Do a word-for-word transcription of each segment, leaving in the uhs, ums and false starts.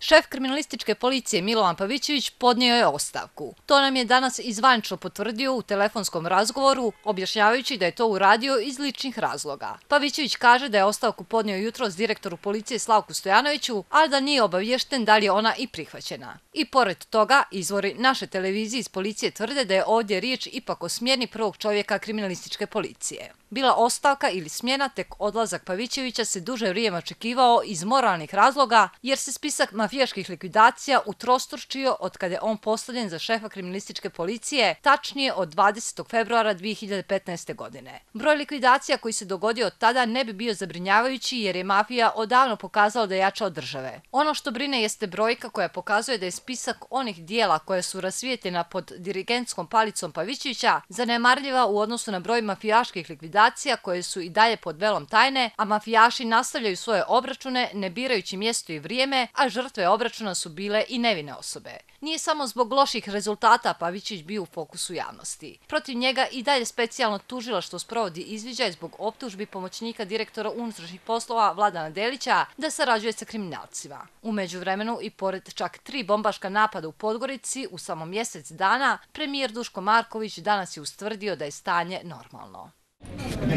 Šef kriminalističke policije Milovan Pavićević podnio je ostavku. To nam je danas i zvanično potvrdio u telefonskom razgovoru, objašnjavajući da je to uradio iz ličnih razloga. Pavićević kaže da je ostavku podnio jutros direktoru policije Slavku Stojanoviću, ali da nije obaviješten da li je ona i prihvaćena. I pored toga, izvori naše televizije iz policije tvrde da je ovdje riječ ipak o smjeni prvog čovjeka kriminalističke policije. Bila ostavka ili smjena, tek odlazak Pavićevića se duže vrijeme očekivao iz moralnih razloga, jer se spisak mafijaških likvidacija utrostručio od kada je on postavljen za šefa kriminalističke policije, tačnije od dvadesetog februara dvije hiljade petnaeste. godine. Broj likvidacija koji se dogodio od tada ne bi bio zabrinjavajući jer je mafija odavno pokazala da je jača od države. Ono što brine jeste brojka koja pokazuje da je spisak onih dijela koje su rasvijetljena pod dirigentskom palicom Pavićevića zanemarljiva u odnosu na broj mafijaških likvidacija koje su i dalje pod velom tajne, a mafijaši nastavljaju svoje obračune ne birajući mjesto i vrijeme, a žrtve obračuna su bile i nevine osobe. Nije samo zbog loših rezultata Pavićević bio u fokusu javnosti. Protiv njega i dalje specijalno tužilaštvo sprovodi izviđaj zbog optužbi pomoćnika direktora unutrašnjih poslova Vladana Delića da sarađuje sa kriminalcima. U međuvremenu i pored čak tri bombaška napada u Podgorici u samo mjesec dana, premijer Duško Marković danas je ustvrdio da je stanje normalno.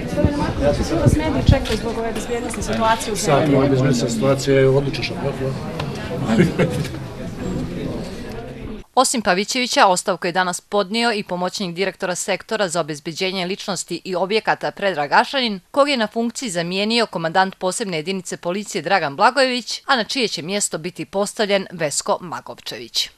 Gospodine Marković, svi vas mediji čekaju zbog ove bezbjednostne situacije u zemlji. Sad, ova bezbjednostna situacija je odlična. Osim Pavićevića, ostavku je danas podnio i pomoćnik direktora sektora za obezbeđenje ličnosti i objekata Predrag Ašanin, kog je na funkciji zamijenio komandant posebne jedinice policije Dragan Blagojević, a na čije će mjesto biti postavljen Vesko Magovčević.